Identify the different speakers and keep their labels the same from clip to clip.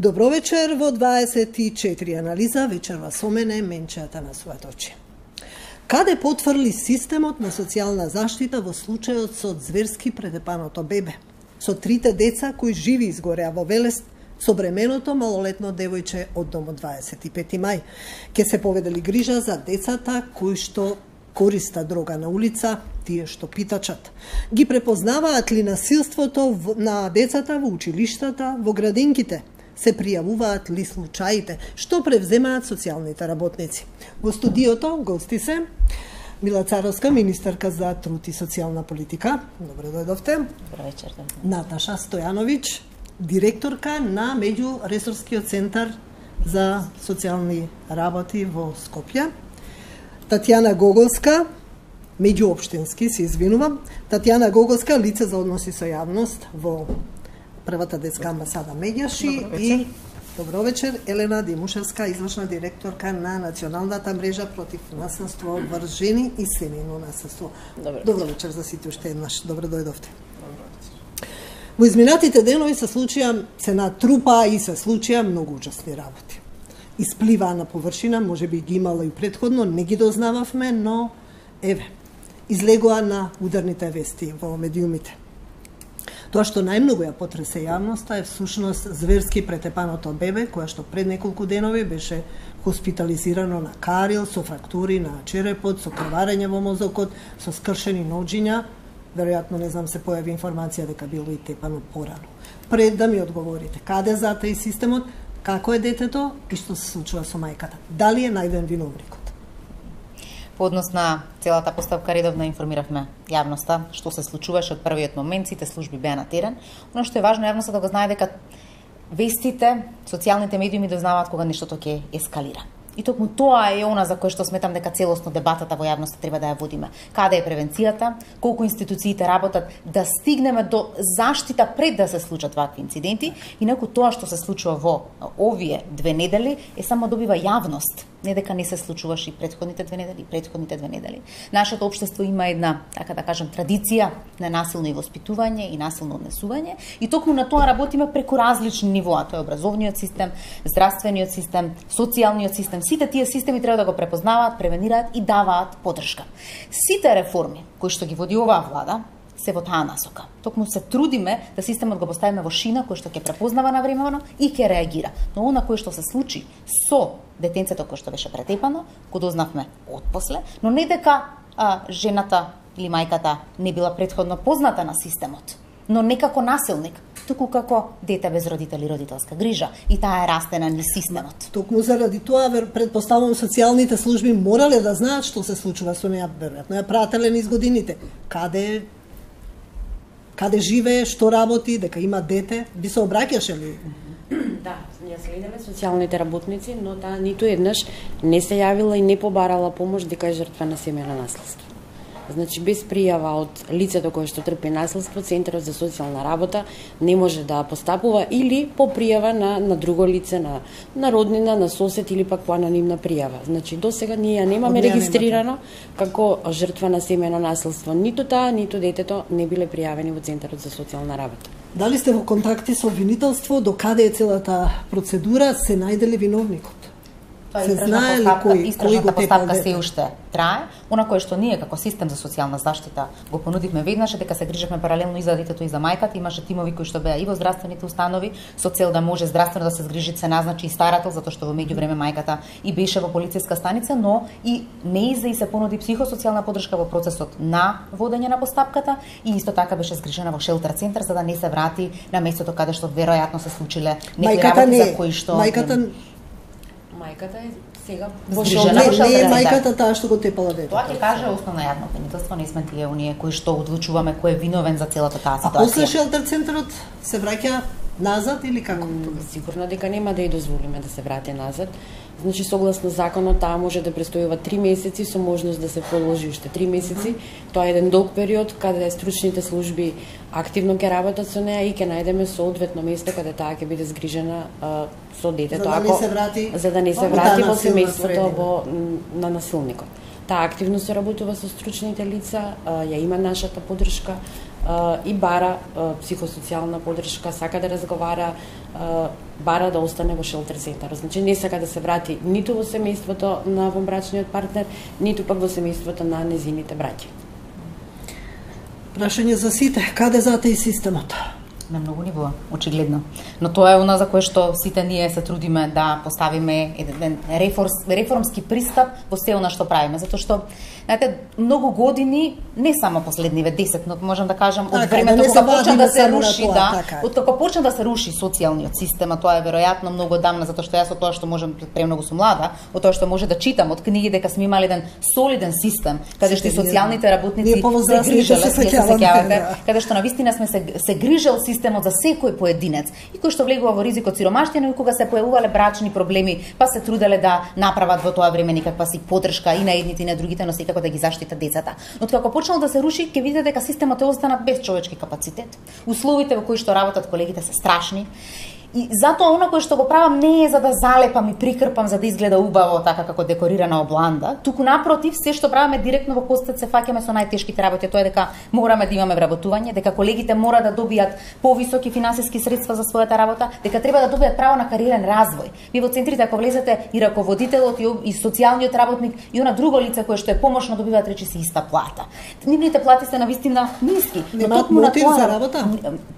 Speaker 1: Добро вечер во 24 анализа, вечерва со мене Менчејата на Суаточи. Каде потврли системот на социјална заштита во случајот со зверски предепаното бебе, со трите деца кои живи изгореа во Велест, со бременото малолетно девојче од домот 25 мај. Ке се поведели грижа за децата кои што користа дрога на улица, тие што питачат. Ги препознаваат ли насилството на децата во училиштата, во градинките? Се пријавуваат ли случаите? Што превземаат социјалните работници? Во студиото гости се Мила Царовска, министерка за труд и социјална политика. Добро дојдовте.
Speaker 2: Добро вечер.
Speaker 1: Наташа Стојановиќ, директорка на Меѓуресорскиот центар за социјални работи во Скопје. Татјана Гоголска, меѓуопштински, се извинувам. Татјана Гоголска, лице за односи со јавност во првата детска амбасада Меѓаши и добро вечер, Елена Димушевска, извршна директорка на Националната мрежа против насилство врз жени и семејно насилство. Добро вечер за сите уште еднаш. Добро дојдовте. Во изминатите денови се натрупаа и се случија многу ужасни работи. Испливаа на површина, може би ги имала и претходно, не ги дознававме, но еве, излегоа на ударните вести во медиумите. Тоа што најмногу ја потресе јавноста е всушност зверски претепаното бебе, која што пред неколку денови беше хоспитализирано на карил, со фрактури на черепот, со крварење во мозокот, со скршени ноџиња. Веројатно, не знам, се појави информација дека било и тепано порано. Пред да ми одговорите, каде затаи системот, како е детето и што се случува со мајката? Дали е најден виновникот?
Speaker 2: По однос на целата постапка редовно информиравме јавноста што се случуваше од првиот момент, сите служби беа на терен. Оно што е важно јавноста да го знае дека вестите, социјалните медиуми дознаваат кога нештото ќе ескалира. И токму тоа е она за кое што сметам дека целосно дебатата во јавноста треба да ја водиме. Каде е превенцијата, колку институциите работат да стигнеме до заштита пред да се случат вакви инциденти, инаку тоа што се случува во овие 2 недели е само добива јавност, не дека не се случуваше и претходните 2 недели, Нашето општество има една, така да кажем, традиција на насилно воспитување и насилно однесување и токму на тоа работиме преку различни нивоа, тоа е образовниот систем, здравствениот систем, социјалниот систем. Сите тие системи треба да го препознаваат, превенираат и даваат поддршка. Сите реформи кои што ги води оваа влада се во таа насока. Токму се трудиме да системот го поставиме во шина кој што ќе препознава навремено и ќе реагира. Но она кој што се случи со детенцето кој што беше претепано, го дознавме отпосле, но не дека жената или мајката не била претходно позната на системот, но не како насилник, туку како дете без родители и родителска грижа. И таа е растена низ системот.
Speaker 1: Токму заради тоа, предпоставувам, социјалните служби морале да знаат што се случува со неа, веројатно ја прателе низ годините. Каде живее, што работи, дека има дете, би се обраќаше ли?
Speaker 3: Да, ја следиме социјалните работници, но таа ниту еднаш не се јавила и не побарала помош дека е жртва на семејно насилство. Значи, без пријава од лицето кое што трпи насилство, Центарот за социјална работа не може да постапува или по пријава на друго лице, на роднина, на сосед или пак по анонимна пријава. Значи, досега ние ја немаме регистрирано како жртва на семејно насилство. Ниту таа, ниту детето не биле пријавени во Центарот за социјална работа.
Speaker 1: Дали сте во контакти со обвинителство, до каде е целата процедура, се најде ли виновникот?
Speaker 2: Се знае ли истражната постапка се уште трае? Она кое што ние како систем за социјална заштита го понудивме веднаш е дека се грижевме паралелно и за детето и за мајката. Имаше тимови кои што беа и во здравствените установи со цел да може здравствено да се згрижи, се назначи и старател, затоа што во меѓувреме мајката и беше во полициска станица, но и неиза и се понуди психосоцијална поддршка во процесот на водење на постапката и исто така беше згрижена во шелтер центар за да не се врати на местото каде што веројатно се случиле некои работи за кои што
Speaker 3: Мајката е сега
Speaker 1: не е мајката таа што го тепала детето.
Speaker 2: Тоа ќе каже основно јавно обвинителство, не сме тие оние кои што одлучуваме кој е виновен за целата таа ситуација.
Speaker 1: А после шелтер центарот се враќа назад или како?
Speaker 3: Сигурно дека нема да ја дозволиме да се врати назад. Значи, согласно законот, таа може да престојува 3 месеци со можност да се продолжи уште 3 месеци. Тоа е еден долг период каде стручните служби активно ќе работат со неа и ќе најдеме соодветно место каде таа ќе биде згрижена со детето, за да не се врати во семејството на насилникот. Таа активно се работува со стручните лица, ја има нашата поддршка и бара психосоцијална поддршка, сака да разговара, бара да остане во шелтер центар. Значи не сака да се врати ниту во семејството на вонбрачниот партнер, ниту пак во семејството на незините браќа.
Speaker 1: Прашање за сите, каде затеа системот?
Speaker 2: На многу нивоа, очигледно. Но тоа е она за кое што сите ние се трудиме да поставиме еден реформски пристап во се она што правиме, затоа што знаете, многу години, не само последниве 10, но можам да кажам од времето кога почна да се руши, од кога почна да се руши социјалниот систем, а тоа е веројатно многу одамна, затоа што јас од тоа што можам премногу сум млада, од тоа што може да читам од книги дека сме имали еден солиден систем, каде што социјалните работници се грижеле, каде што навистина сме се грижел системот за секој поединец и кој што влегува во ризик од сиромаштина и кога се појавувале брачни проблеми, па се труделе да направат во тоа време некаква си поддршка и на едните и на другите, но секако да ги заштитат децата. Но како почнал да се руши, ќе видите дека системот е останат без човечки капацитет. Условите во кои што работат колегите се страшни. И затоа она кое што го правам не е за да залепам и прикрпам за да изгледа убаво така како декорирана обланда, туку напротив, се што правиме директно во костец се фаќаме со најтешките работи, тоа е дека мораме да имаме вработување, дека колегите мора да добијат повисоки финансиски средства за својата работа, дека треба да добијат право на кариерен развој. Ви во центрите ако влезете и раководителот и социјалниот работник и она друго лице кое што е помошно добиваат речиси иста плата. Нивните плати се навистина ниски, но токму на тоа
Speaker 1: за работа.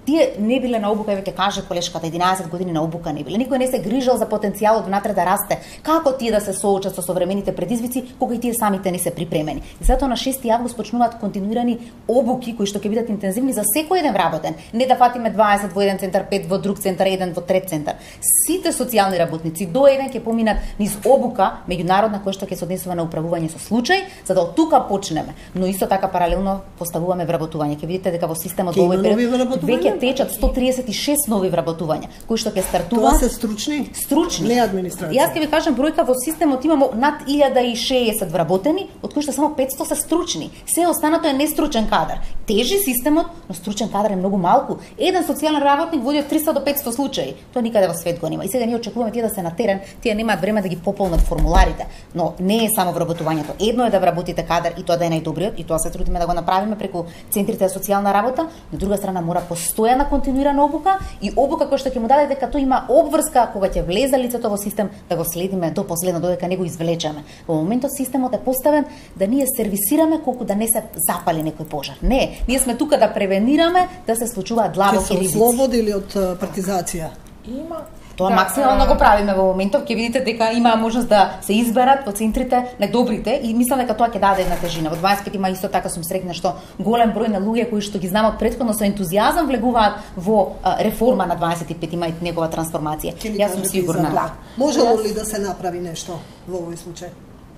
Speaker 2: Тие не биле на обука, веќе каже колешката 11 години на обука не биле. Никој не се грижал за потенцијалот внатре да расте. Како тие да се соочат со современите предизвици кога и тие самите не се припремени. И затоа на 6 август почнуваат континуирани обуки кои што ќе бидат интензивни за секој еден вработен. Не да фатиме 20 во еден центар, 5 во друг центар, 1 во трет центар. Сите социјални работници до еден ќе поминат низ обука меѓународна која што ќе се однесува на управување со случај, за да од тука почнеме. Но исто така паралелно поставуваме вработување. Ќе видите дека во системот во овој период веќе течат 136 нови вработувања кои што ќе стартува.
Speaker 1: Тоа се стручни?
Speaker 2: Стручни.
Speaker 1: Не администрација.
Speaker 2: Јас ќе ви кажам бројка во системот имамо над 1060 вработени, од кои што само 500 се стручни. Се останато е нестручен кадар. Тежи системот, но стручен кадар е многу малку. Еден социјален работник води од 300 до 500 случаи. Тоа никаде во свет го нема. И сега ние очекуваме тие да се на терен, тие немаат време да ги пополнат формуларите. Но не е само вработувањето. Едно е да вработите кадар и тоа да е најдобриот, и тоа се трудиме да го направиме преку центрите за социјална работа. На друга страна мора постојана континуирана обука и обука која што ќе му даде дека тој има обврска кога ќе влезе лицето во систем да го следиме до последно додека не го извлечеме. Во моментот системот е поставен да ние сервисираме колку да не се запали некој пожар. Не, ние сме тука да превенираме да се случуваат длабоки ризици.
Speaker 1: Ќе се ослободили од партизација?
Speaker 2: Има. Тоа максимално го правиме во моментов, ќе видите дека има можност да се изберат во центрите најдобрите и мислам дека тоа ќе даде една тежина. Во 25 има исто така сум срекна што голем број на луѓе кои што ги знам од претходно со ентузијазам влегуваат во реформа на 25 има и негова трансформација. Јас сум сигурна.
Speaker 1: Да. Можело ли да се направи нешто во овој случај?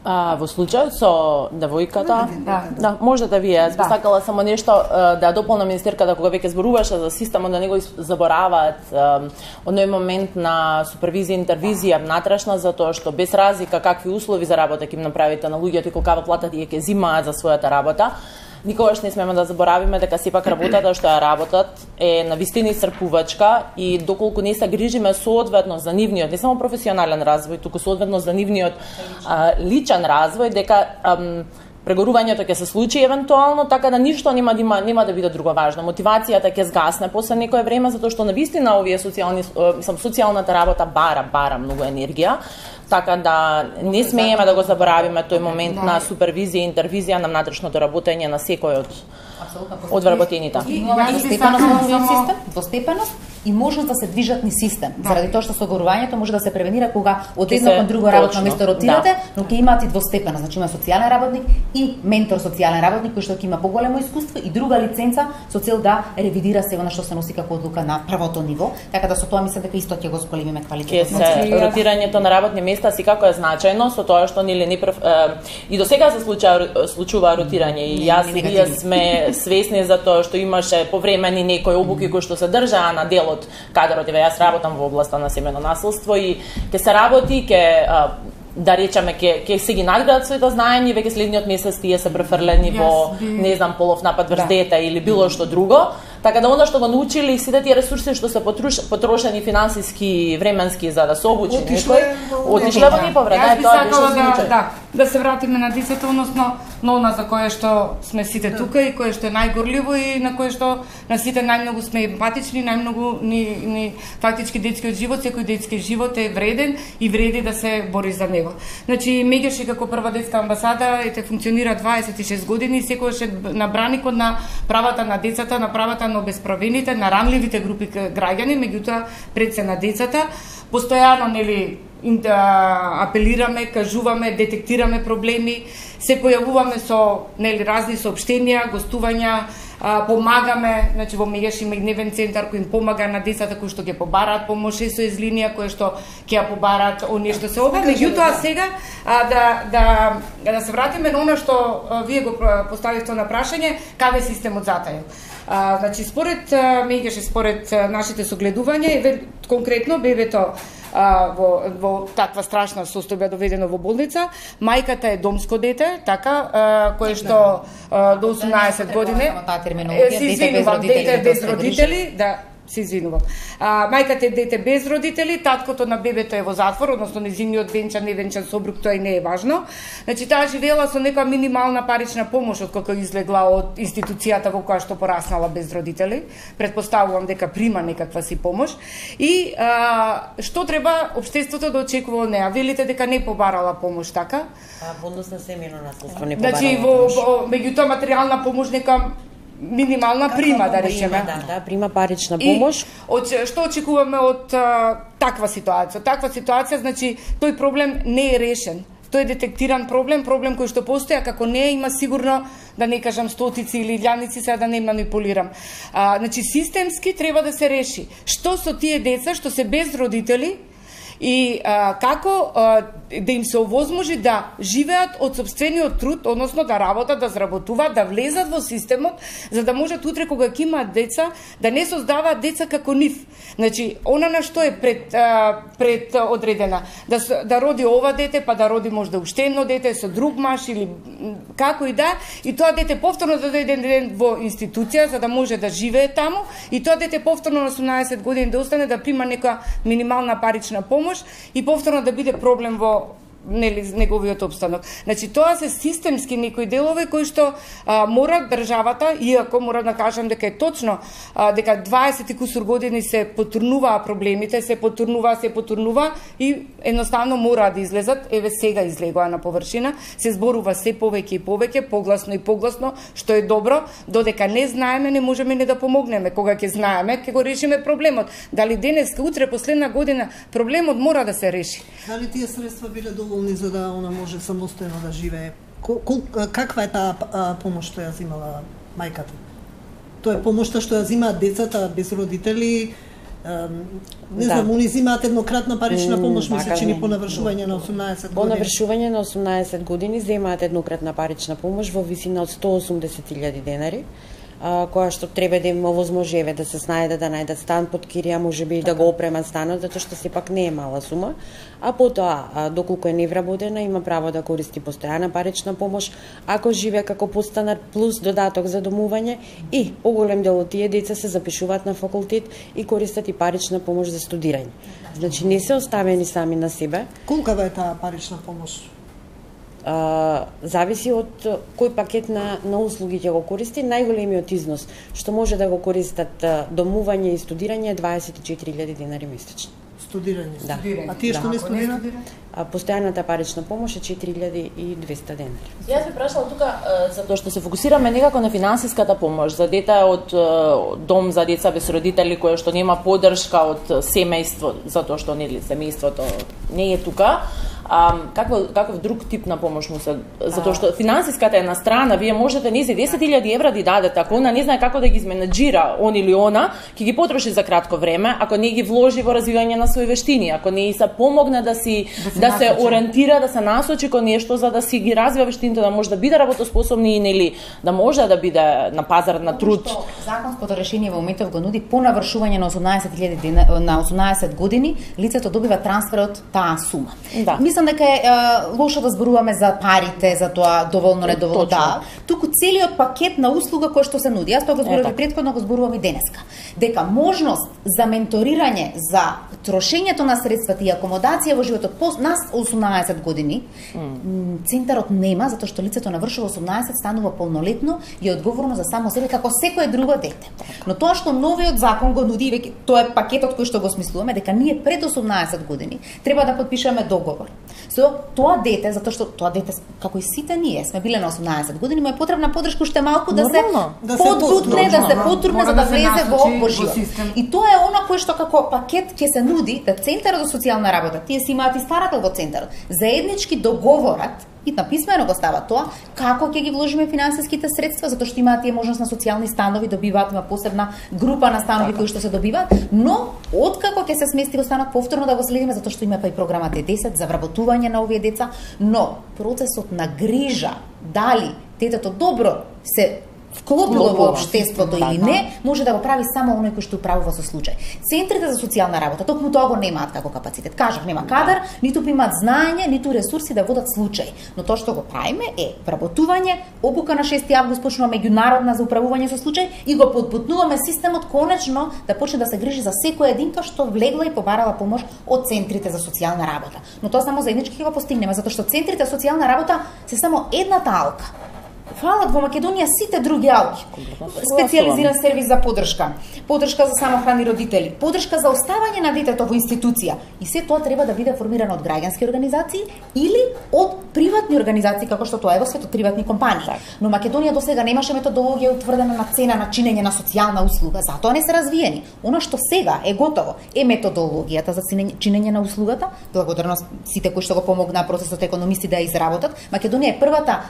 Speaker 4: Во случајот со девојката, да, може да ви е. Сакала само нешто да дополнам министерката кога веќе зборуваше за системот да не го забораваат оној момент на супервизија и интервизија внатрешна, затоа што без разлика какви услови за работа ќе им направите на луѓето и колкава плата тие ќе зимаат за својата работа. Никогаш не смееме да заборавиме дека сепак работата што ја работат е навистина исцрпувачка и доколку не се грижиме соодветно за нивниот не само професионален развој, туку соодветно за нивниот личен развој, дека прегорувањето ќе се случи евентуално, така да ништо нема да биде друго важно. Мотивацијата ќе згасне после некое време затоа што навистина овие социјалната работа бара многу енергија. Така да не смееме да го заборавиме тој момент на супервизија и интервизија на внатрешното работење на секој од вработените.
Speaker 2: Двостепеност и можност да се движат ни систем. Заради тоа што соговорувањето може да се превенира кога од едно кон друго работно место ротирате, но ќе имаат и двостепеност. Значи има социјален работник и ментор социјален работник кој што ќе има поголемо искуство и друга лиценца со цел да ревидира се она што се носи како одлука на првото ниво. Така да со тоа мислам дека исто ќе го зголемиме квалитетот.
Speaker 4: Ротирањето на работни места си како е значајно со тоа што и до сега се случува ротирање и јас и вие сме свесни за тоа што имаше повремени некои обуки кои што се држаа на дел од кадрот. Јас работам во областа на семејно насилство и ќе се работи, да речеме ќе се ги надградат своите знаења, веќе следниот месец тие се префрлени во не знам полов напад врз дете или било што друго. Така да она што го научили, сите тие ресурси што се потрошени финансиски, временски за да се обучи некој, отишле во неповред.
Speaker 5: Да се вратиме на децата, односно на она за кое што сме сите тука и кое што е најгорливо и на кое што на сите најмногу сме емпатични, најмногу ни фактички детскиот живот, секој детски живот е вреден и вреди да се бори за него. Значи Меѓаши како прва детска амбасада функционира 26 години и секогаш е на браникот на правата на децата, на правата на обесправените, на ранливите групи граѓани, меѓутоа пред се на децата. Постојано апелираме, кажуваме, детектираме проблеми, се појавуваме со разни соопштенија, гостувања, помагаме, значи во Меѓаш има и дневен центар кој им помага на децата кои што ќе побараат помош, SOS линија која што ќе ја побараат оние што се ова. Меѓутоа сега да се вратиме на она што вие го поставивте на прашање, каде системот затаил. Значи според Меѓаш, според нашите согледувања, конкретно бебето во таква страшна состојба доведено во болница, мајката е домско дете, така, кое што до 18 години се извинувам, дете без родители, да, се извинувам. Мајката е дете без родители, таткото на бебето е во затвор, односно нејзиниот венчан, невенчан сопруг, тоа и не е важно. Значи таа живеела со нека минимална парична помош откако излегла од институцијата во која што пораснала без родители. Предпоставувам дека прима некаква си помош. И што треба општеството да очекува од неа? Велите дека не побарала помош, така?
Speaker 3: Во однос на семејно наследство не побарала
Speaker 5: помош. Значи меѓутоа материјална помош нека минимална прима, да речеме.
Speaker 3: Да, прима парична помош.
Speaker 5: И што очекуваме од таква ситуација? Таква ситуација, значи, тој проблем не е решен. Тој е детектиран проблем кој што постои, а како не има сигурно, да не кажам стотици или илјадници, сега да не манипулирам. Значи, системски треба да се реши. Што со тие деца што се без родители, и како да им се овозможи да живеат од сопствениот труд, односно да работат, да заработуваат, да влезат во системот, за да можат утре кога ќе имаат деца, да не создаваат деца како нив. Значи, она на што е пред одредена, да роди ова дете, па да роди можда уште едно дете со друг маж или како и да, и тоа дете повторно да дојде ден во институција за да може да живее таму, и тоа дете повторно на 18 години да остане да прима нека минимална парична помош и повторно да биде проблем во неговиот обстанок. Значи, тоа се системски некои делови кои што мора државата, иако мора да кажам дека е точно дека 20 и кусур години се потурнуваа проблемите, се потурнува и едноставно мора да излезат, еве сега излегоа на површина, се зборува се повеќе и повеќе, погласно и погласно, што е добро, додека не знаеме, не можеме не да помогнеме. Кога ќе знаеме, ќе го решиме проблемот. Дали денеска, утре, последна година, проблемот мора да се реши.
Speaker 1: Дали тие средства биле доволни за да она може самостојно да живее? Каква е таа помош што ја земала мајката? Тоа е помошта што ја земаат децата без родители. Не знам, они земаат еднократна парична помош, мисля, чини по навршување на 18 години.
Speaker 3: По навршување на 18 години земаат еднократна парична помош во висина од 180.000 денари, која што треба да им овозможеве да се снајде да најдат стан под кирија, можеби и да го опремат станот, затоа што сепак не е мала сума. А потоа, доколку е невработена, има право да користи постојана парична помош, ако живее како подстанар плюс додаток за домување, и поголем дел од тие деца се запишуваат на факултет и користат и парична помош за студирање. Значи не се оставени сами на себе.
Speaker 1: Колкава е таа парична помош?
Speaker 3: Зависи од кој пакет на услуги ќе го користи. Најголемиот износ што може да го користат домување и студирање е 24.000 денари месечно.
Speaker 1: Студирање?
Speaker 3: Да.
Speaker 1: А тие што не студираат?
Speaker 3: Постојаната парична помош е 4.200 денари.
Speaker 4: Јас би прашала тука затоа што се фокусираме некако на финансиската помош за дете од дом за деца без родители кој што нема поддршка од семејство затоа што нели семејството не е тука. Каков друг тип на помош му се, затоа што финансиската е на страна, вие можете низи 10.000 евра да дадете, ако она не знае како да ги изменаџира он или она, ќе ги потроши за кратко време, ако не ги вложи во развивање на своји вештини, ако не се помогне да се ориентира, да се насочи кон нешто за да си ги развива вештините, да може да биде работоспособни и нели да може да биде на пазар на труд.
Speaker 2: Законското решение во моментов го нуди по навршување на 18.000 на 18 години, лицето добива трансфер од таа сума.
Speaker 4: Да.
Speaker 2: мислам дека е лошо да зборуваме за парите, за тоа доволно недоволно, да. Туку целиот пакет на услуга кој што се нуди. Јас тоа го зборував претходно, го зборувам и денеска. Дека можност за менторирање, за трошењето на средствата и акомодација во животот по нас 18 години, центарот нема, затоа што лицето навршува 18, станува полнолетно и е одговорно за само себе како секое друго дете. Но тоа што новиот закон го нуди, веќе тоа е пакетот кој што го смислуваме, дека ние пред 18 години треба да подпишеме договор со тоа дете, затоа што тоа дете, како и сите ние, сме биле на 18 години, му е потребна подршка уште малку да се подбутне, да се потрудне за да влезе во живот. И тоа е она кое што како пакет ќе се нуди да Центарот за социјална работа, тие си имаат и старател во центарот, заеднички договорат и на писмено го става тоа, како ќе ги вложиме финансиските средства, затоа што имаат тие можност на социјални станови, добиваат, има посебна група на станови кои што се добиваат, но откако ќе се смести во станот повторно да го следиме, затоа што има па и програма Т10 за вработување на овие деца, но процесот на грижа, дали детето добро се вклопило во општеството или не, може да го прави само оној кој што управува со случај. Центрите за социјална работа токму тоа го немаат како капацитет. Кажав, нема кадар, ниту имаат знаење, ниту ресурси да водат случај. Но тоа што го правиме е вработување, обука на 6 август почнува меѓународна за управување со случај и го подбутнуваме системот конечно да почне да се грижи за секоја единка што влегла и побарала помош од центрите за социјална работа. Но тоа само заеднички го постигнеме, затоа што центрите за социјална работа се само едната алка. Фалат во Македонија сите други алки. Специализиран сервис за подршка, подршка за самохрани родители, подршка за оставање на детето во институција. И се тоа треба да биде формирано од граѓански организации или од приватни организации, како што тоа е во светот, приватни компании. Но Македонија досега немаше методологија утврдена на цена на чинење на социјална услуга, затоа не се развиени. Она што сега е готово е методологијата за чинење на услугата, благодарно сите кои што го помогнаа процесот економисти да ја изработат. Македонија е првата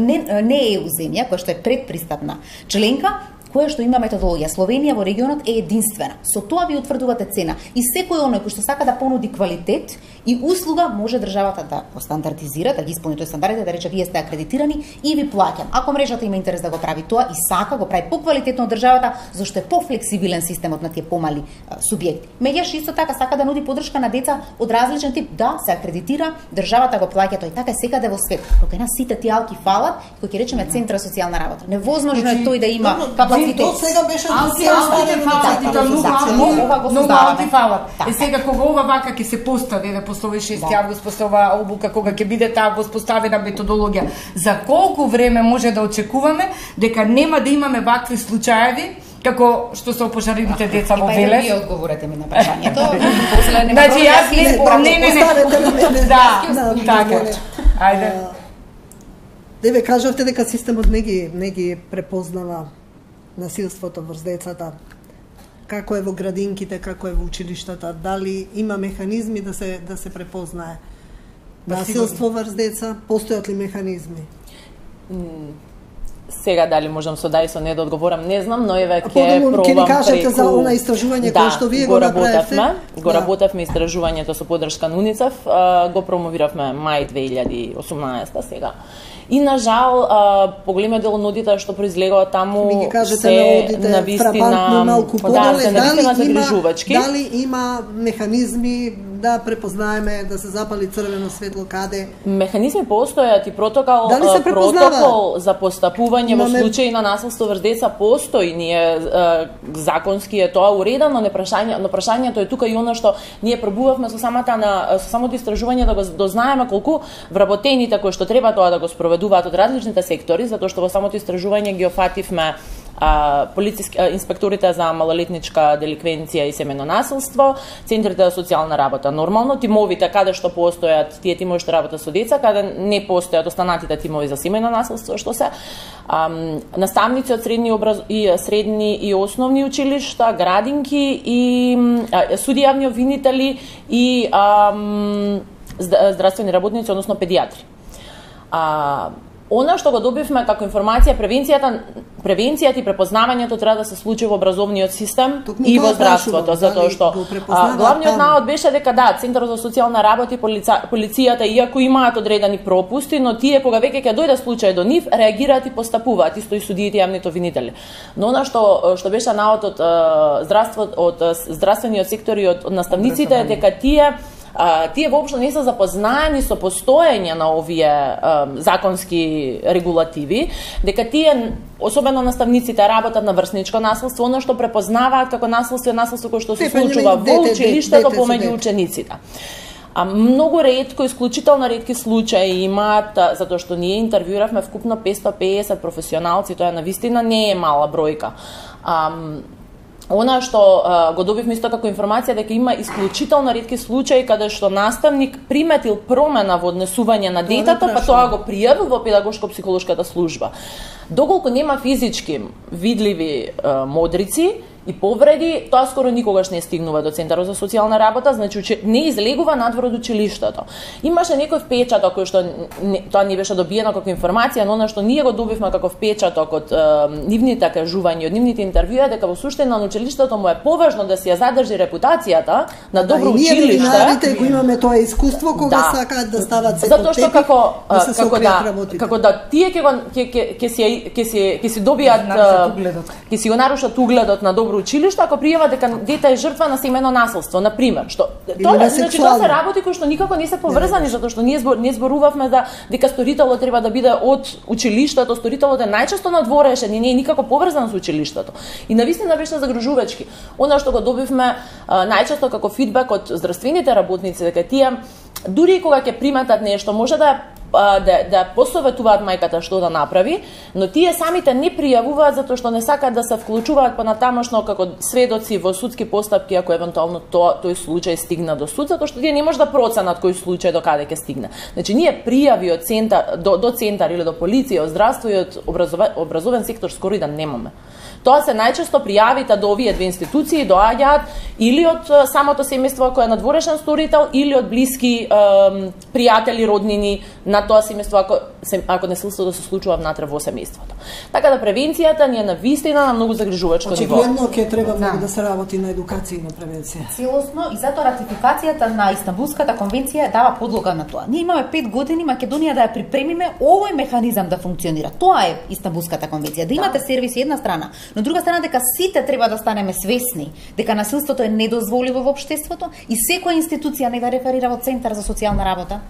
Speaker 2: не ЕУ земја, која што е предпристапна членка, која што има методологија. Словенија во регионот е единствена. Со тоа ви утврдувате цена. И секој оној кој што сака да понуди квалитет и услуга, може државата да го стандардизира, да ги исполни тој стандардите, да рече вие сте акредитирани и ви плаќам. Ако мрежата има интерес да го прави тоа и сака, го прави поквалитетно од државата, зашто е пофлексибилен системот на тие помали субјекти. Меѓутоа исто така сака да нуди поддршка на деца од различен тип, да се акредитира, државата го плаќа, тој така е секаде во свет. Кога на сите тие алки фалат, кои ќе речеме центар за социјална работа. Невозможно е тој да има капацитет.
Speaker 1: До сега беше
Speaker 5: многу алки фалат. Е сега кога ова вака ќе се постави, после 6 август, после ова обука, кога ќе биде таа воспоставена методологија, за колку време може да очекуваме дека нема да имаме вакви случаеви како што се опожарените деца во Велес?
Speaker 2: Вие одговорете ми на прашањето. После нема.
Speaker 5: Значи јас не. Да, така. Ајде.
Speaker 1: Деве кажавте дека системот не ги препознава насилството врз децата. Како е во градинките, како е во училиштата, дали има механизми да се препознае насилство врз деца, постојат ли механизми?
Speaker 4: Сега дали можам со да и со не да одговорам, не знам, но еве ќе пробам
Speaker 1: преку... Ќе ни кажете за она истражување кое што вие го направивте?
Speaker 4: Го работевме истражувањето со поддршка на УНИЦЕФ, го промовиравме мај 2018 сега. И на жал, поголемиот дел од одите што произлегува таму се навистина загрижувачки.
Speaker 1: Дали има механизми да препознаеме, да се запали црвено светло каде?
Speaker 4: Механизми постојат и протокол за постапување во случаи на насилство врз деца постои. Ние законски е тоа уредено, но прашањето е тука и она што ние пробувавме со самото истражување да го дознаеме колку вработените кои што треба тоа да го спроведуваат од различните сектори, затоа што во самото истражување ги офативме инспекторите за малолетничка деликвенција и семејно насилство, центрите за социјална работа. Нормално тимовите каде што постојат, тие тимови што работат со деца, каде не постојат останатите тимови за семејно насилство, што се наставници од средни и основни училишта, градинки и суди, јавни обвинители и здравствени работници, односно педиатри. Она што го добивме како информација, превенцијата и препознавањето треба да се случи во образовниот систем и во здравството, затоа што главниот навод беше дека Центарот за социјална работа и полицијата, иако имаат одредени пропусти, но тие кога веќе ќе дојде случај до нив, реагираат и постапуваат, исто и судиите и јавните обвинители. Но она што беше навод од здравствениот сектор и од наставниците е дека тие тие воопшто не се запознаени со постоење на овие законски регулативи, дека тие, особено наставниците, работат на врсничко насилство, оно што препознаваат како насилство е насилство кое што се случува во училиштето помеѓу учениците. Многу ретко, исклучително ретки случаи имаат, затоа што ние интервјуравме вкупно 550 професионалци, тоа навистина не е мала бројка. Она што го добивме исто како информација дека има исклучително ретки случаи каде што наставник приметил промена во однесување на детето, па тоа го пријавил во педагошко-психолошката служба. Доколку нема физички видливи модрици и повреди, тоа скоро никогаш не стигнува до Центарот за социјална работа, значи не излегува надвор од училиштето. Имаше некој впечаток кој што тоа не беше добиено како информација, но она што ние го добивме како впечаток од нивните кажувања, од нивните интервјуи, дека во суштина на училиштето му е поважно да си ја задржи репутацијата на добро училиште.
Speaker 1: Ние ветеринарите го имаме тоа искуство кога сакаат да стават се
Speaker 4: затоа што како да тие ќе си добијат ќе си го нарушат угледот на добро училиште ако пријава дека дете е жртва на семено насилство, на пример, што тоа се работи кои што никако не се поврзани, затоа што ние зборувавме дека сторителот треба да биде од училиштето, сторителот е најчесто надворешен и не е никако поврзан со училиштето. И навистина беше загрижувачки. Она што го добивме најчесто како фидбек од здравствените работници, дека тие дури кога ќе приметат нешто, може да посоветуваат мајката што да направи, но тие самите не пријавуваат затоа што не сакаат да се вклучуваат понатамошно како сведоци во судски постапки ако евентуално тој случај стигна до суд, затоа што тие не може да проценат кој случај до каде ќе стигне. Значи ние пријави од центар до центар или до полиција, од здравство и од образовен сектор скоро и да немаме. Тоа се најчесто пријавите до овие две институции доаѓаат или од самото семејство кој е надворешен сторител или од блиски пријатели, роднини на тоа семејство ако насилството се случува внатре во семејството. Така да превенцијата ни е навистина на многу загрижувачко ниво.
Speaker 1: Очигледно ќе треба многу да се работи на едукација и на превенција.
Speaker 2: Целосно и затоа ратификацијата на Истанбулската конвенција дава подлога на тоа. Ние имаме 5 години Македонија да ја припремиме овој механизам да функционира. Тоа е Истанбулската конвенција. Да имате сервис една страна, но друга страна дека сите треба да станеме свесни дека насилството е недозволиво во општеството и секоја институција не да реферира во Центар за социјална работа.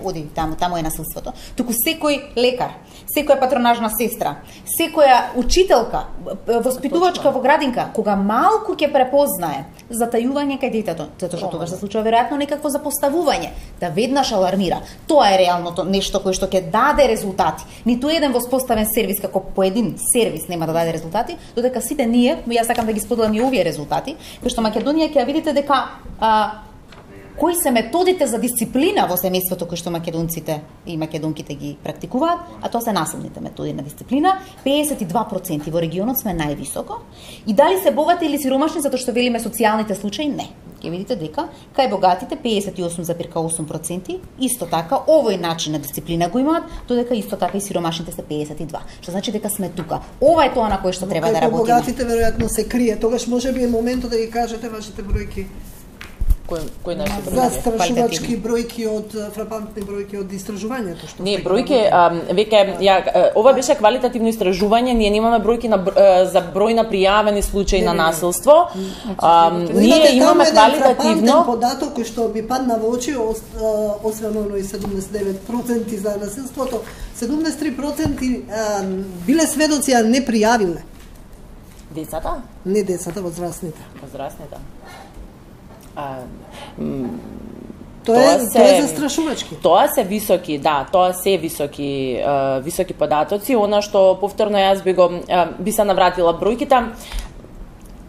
Speaker 2: Оди, таму е насилството. Туку секој лекар, секоја патронажна сестра, секоја учителка, воспитувачка во градинка, кога малку ќе препознае затајување кај детето, затоа што тогаш се случува веројатно некакво запоставување, да веднаш алармира. Тоа е реалното нешто кое што ќе даде резултати. Ниту еден воспоставен сервис како поедин сервис нема да даде резултати, додека сите ние, јас сакам да ги споделам и овие резултати, кои што Македонија ќе видите дека кои се методите за дисциплина во семејството кои што македонците и македонките ги практикуваат, а тоа се насилните методи на дисциплина, 52% во регионот сме највисоко. И дали се богати или сиромашни, затоа што велиме социјалните случаи, не. Ќе видите дека кај богатите 58,8%, исто така овој начин на дисциплина го имаат, додека исто така и сиромашните се 52%. Што значи дека сме тука. Ова е тоа на кое што треба да работиме.
Speaker 1: Богатите веројатно се крие, тогаш можеби е моментот да ги кажете вашите бројки.
Speaker 4: Кој наши бројки?
Speaker 1: Застрашувачки бројки од фрапантни бројки од истражувањето што
Speaker 4: не бројки веќе ова беше квалитативно истражување, ние немаме бројки за број на пријавени случаи на насилство. Ние имаме квалитативно
Speaker 1: податок кој што би падна во очи, освен оној 79% за насилството, 73% биле сведоци, а не пријавиле.
Speaker 4: Децата?
Speaker 1: Не децата, возрастните.
Speaker 4: Возрастните.
Speaker 1: Тоа е застрашувачки.
Speaker 4: Тоа се високи, тоа се високи податоци. Она што повторно јас би се навратила бројките.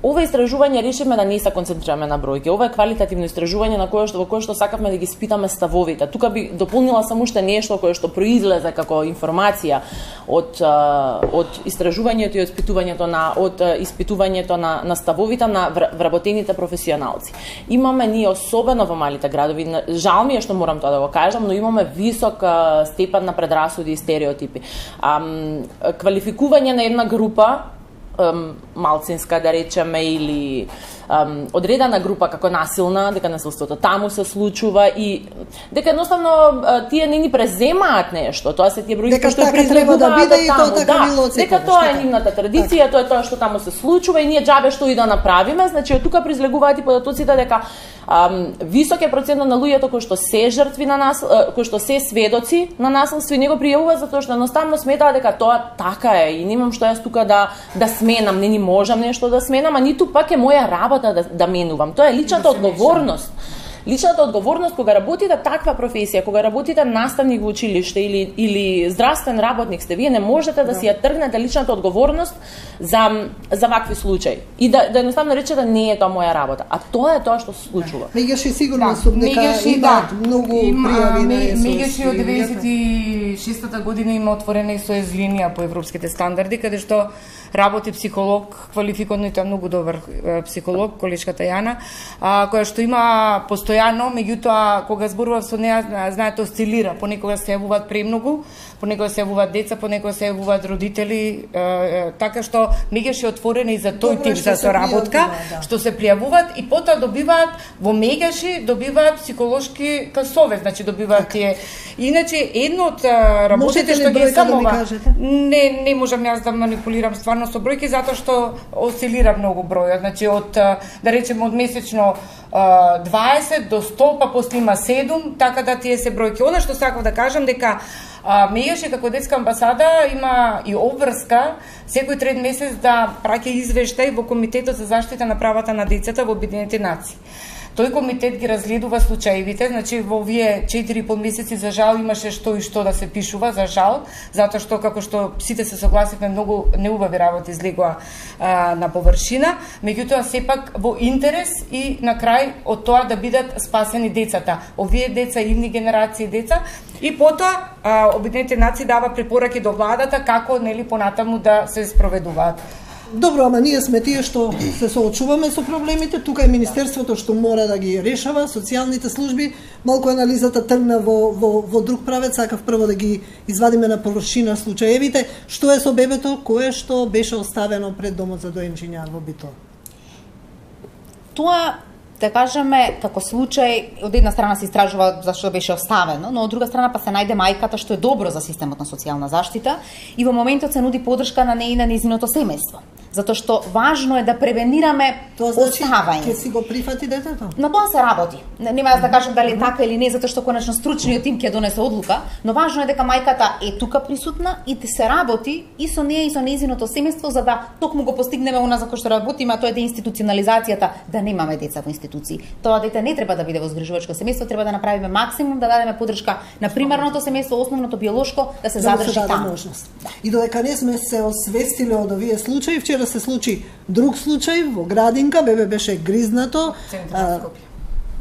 Speaker 4: Ова истражување решивме да не се концентрираме на бројки. Ова е квалитативно истражување во кое што сакавме да ги испитаме ставовите. Тука би дополнила само уште нешто кое што произлезе како информација од истражувањето и од испитувањето на ставовите на вработените професионалци. Имаме ние особено во малите градови, жал ми е што морам тоа да го кажам, но имаме висок степен на предрасуди и стереотипи. Квалификување на една група малцинска, да речеме, или одредена група како насилна, дека насилството таму се случува и дека едноставно тие не ни преземаат нешто, тоа се тие бројки што преземуваат таму. Дека тоа е нивната традиција, тоа е тоа што таму се случува и ние џабе што и да направиме, значи од тука произлегуваат и податоците дека Висок е процентот на луѓето кои што се жртви на кои што се сведоци на насилство и него пријавуваат затоа што едноставно сметаат дека тоа така е и немам што јас тука да сменам, не можам нешто да сменам, а ниту пак е моја работа да менувам. Тоа е личната одговорност. Личната одговорност кога работите таква професија, кога работите наставник во училиште или здравствен работник сте, вие не можете да си ја тргнете личната одговорност за вакви случаи. И да едноставно речете не е тоа моја работа. А тоа е тоа што се случува.
Speaker 1: Мегаши сигурно сум дека имаат многу пријави на СОС.
Speaker 5: Мегаши од 96-та година има отворена СОС линија по европските стандарди, каде што работи психолог, квалификуван, тоа многу добар психолог, колешката Јана, која што има постојано, меѓутоа кога зборував со неа, знаете, осцилира, понекогаш се јавуваат премногу, понекогаш се јавуваат деца, понекогаш се јавуваат родители, така што мегаш е отворена и за тој тип за соработка, што се пријавуваат и потоа добиваат во мегаши добиваат психолошки совет, значи добиваат тие. Иначе едно од работите што ги самова, не можам јас да манипулирам стварно со бројки затоа што осцилира многу бројот, значи од да речеме од месечно 20 до 100, па после има 7, така да тие се бројки. Она што сакав да кажам дека Мегаши како детска амбасада има и обврска секој трет месец да праќа извештај во Комитетот за заштита на правата на децата во Обединетите нации. Тој комитет ги разгледува случаевите, значи во овие 4,5 месеци за жал имаше што и што да се пишува, за жал, затоа што како што сите се согласивме многу неубави работи излегоа на површина, меѓутоа сепак во интерес и на крај од тоа да бидат спасени децата. Овие деца, идни генерации деца и потоа Обединетите нации дава препораки до владата како нели понатаму да се спроведуваат.
Speaker 1: Добро, ама ние сме тие што се соочуваме со проблемите, тука е Министерството што мора да ги решава, социјалните служби, малку анализата тргна во друг правец, сакав прво да ги извадиме на површина случаевите, што е со бебето кое што беше оставено пред домот за доенчиња во Битола.
Speaker 2: Тоа да кажеме, како случај, од една страна се истражува зашто беше оставено, но од друга страна па се најде мајката, што е добро за системот на социјална заштита и во моментот се нуди подршка на неина незиното семејство. Затоа што важно е да превенираме оставање.
Speaker 1: Ќе си го прифати детето?
Speaker 2: На тоа се работи. Нема да кажам дали така или не, затоа што конечно стручниот тим ќе донесе одлука, но важно е дека мајката е тука присутна и да се работи и со неја и со незиното семејство за да токму го постигнеме она за кој што работиме, а тоа е деинституционализацијата, да немаме деца во институции. Тоа дете не треба да биде во згрижувачко семејство, треба да направиме максимум да дадеме поддршка на примарното семејство, основното биолошко, да се задржи таму.
Speaker 1: И додека не сме се освестиле од овие случаи, вчера се случи друг случај во Градинка, бебе беше гризнато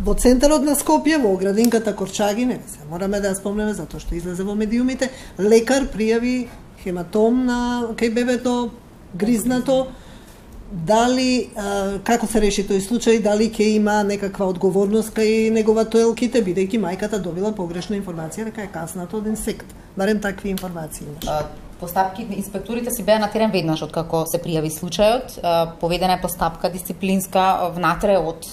Speaker 1: во центарот на Скопје, во градинката Корчаги, не се мораме да ја спомнеме затоа што излезе во медиумите, лекар пријави хематом на кај бебето гризнато. Дали, како се реши тој случај, дали ќе има некаква одговорност кај негователките, бидејќи мајката добила погрешна информација дека е каснато од инсект. Барем такви информации имаш.
Speaker 2: Постапки, инспекторите си беа на терен веднаш од како се пријави случајот, поведена е постапка дисциплинска внатре од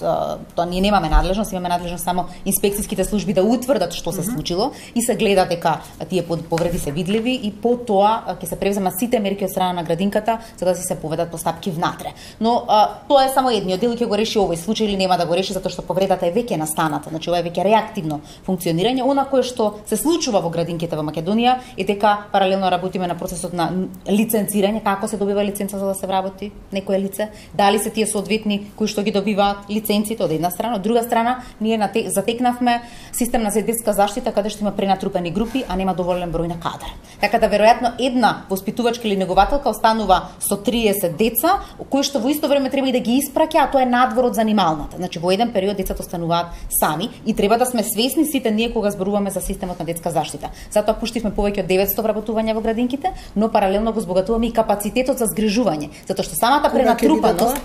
Speaker 2: тоа ние немаме надлежност, имаме надлежност само инспекцијските служби да утврдат што се случило и се гледа дека тие повреди се видливи и по тоа ќе се превземат сите мерки од страна на градинката за да се поведат постапки внатре. Но тоа е само едниот дел, ќе го реши овој случај или нема да го реши затоа што повредата е веќе настаната, значи ова е веќе реактивно функционирање. Она кое што се случува во градинките во Македонија е дека паралелно работиме на процесот на лиценцирање, како се добива лиценца за да се вработи некое лице, дали се тие соодветни кои што ги добиваат лиценците од една страна, од друга страна ние затекнавме систем на детска заштита каде што има пренатрупани групи, а нема доволен број на кадар. Така да веројатно една воспитувачка или негователка останува со 30 деца, кои што во исто време треба и да ги испраќа, а тоа е надвор од занималната. Значи во еден период децата остануваат сами и треба да сме свесни сите ние кога зборуваме за системот на детска заштита. Затоа пуштивме повеќе од 900 вработувања во градинките, но паралелно го збогатуваме и капацитетот за згрижување, затоа што самата пренатрупаност,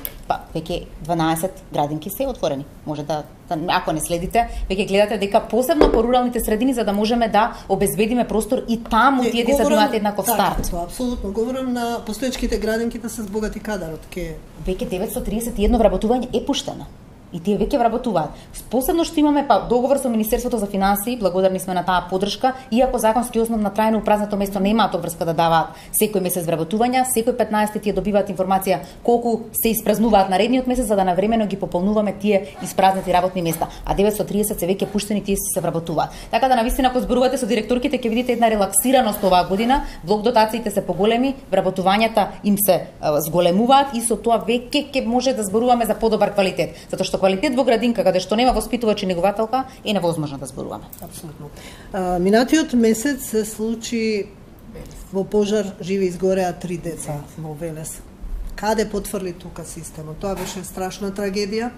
Speaker 2: веќе 12 градинки се отворени. Може да ако не следите, веќе гледате дека посебно по руралните средини за да можеме да обезбедиме простор и таму тие деца да имаат еднаков старт.
Speaker 1: Тоа апсолутно говорам на постоечките градинки да се збогати кадарот.
Speaker 2: Веќе 931 вработување е пуштено. и тие веќе вработуваат. Посебно што имаме договор со Министерството за финансии, благодарни сме на таа поддршка, иако законски основ на трајно упразнато место немаат обврска да даваат секој месец вработувања, секој 15 тие добиваат информација колку се испразнуваат наредниот месец за да навремено ги пополнуваме тие испразнати работни места, а 930 се веќе пуштени, тие се вработуваат. Така да навистина ако зборувате со директорките ќе видите една релаксираност оваа година, блок дотациите се поголеми, вработувањата им се зголемуваат и со тоа веќе ќе може да зборуваме за подобар квалитет, затоа што квалитет во градинка каде што нема воспитувач и негователка е невозможно да зборуваме.
Speaker 1: Апсолутно. Минатиот месец се случи во пожар, живи изгореа 3 деца во Велес. Каде потврли тука системот? Тоа беше страшна трагедија,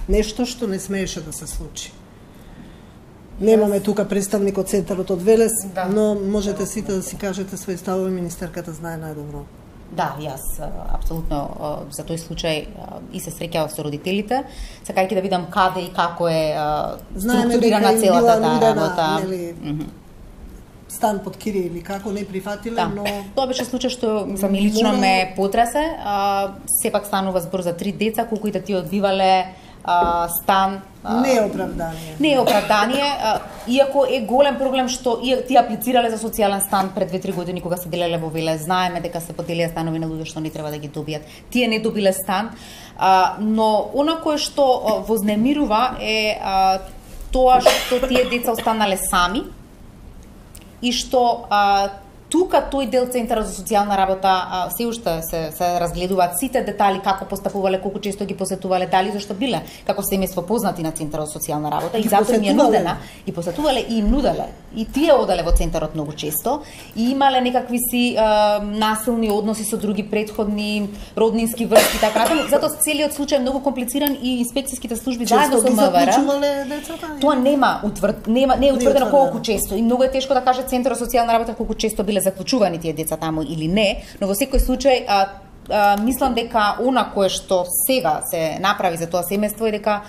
Speaker 1: нешто што не смееше да се случи. Немаме тука представник од центарот од Велес, но можете сите да си кажете своји ставови, министерката знае најдобро.
Speaker 2: Да, јас апсолутно за тој случај и се среќавав со родителите, сакајќи да видам каде и како е структурирана целата таа работа.
Speaker 1: Стан под кирија или како не прифатиле, но
Speaker 2: тоа беше случај што мислам лично ме потресе. Сепак станува збор за 3 деца, колку и да ти одбивале стан.
Speaker 1: Не е оправдание.
Speaker 2: Не е оправдание, иако е голем проблем што тие аплицирале за социјален стан пред 2-3 години кога се делеле во Велес. Знаеме дека се поделија станови на луѓе што не треба да ги добијат. Тие не добиле стан, но она кое што вознемирува е тоа што тие деца останале сами и што тука тој дел Центарот за социјална работа се уште се разгледуваат сите детали, како постапувале, колку често ги посетувале, дали зашто биле како семејство познати на Центарот за социјална работа и затоа им е нудена и посетувале и им нуделе. И тие одале во Центарот многу често и имале некакви си насилни односи со други претходни роднински врски така натаму. Затоа целиот случај е многу комплициран и инспекцијските служби заедно со МВР. Тоа не е утврдено колку често и многу е тешко да каже Центарот за социјална работа колку често биле заклучувани тие деца таму или не, но во секој случај мислам дека она кое што сега се направи за тоа семејство е дека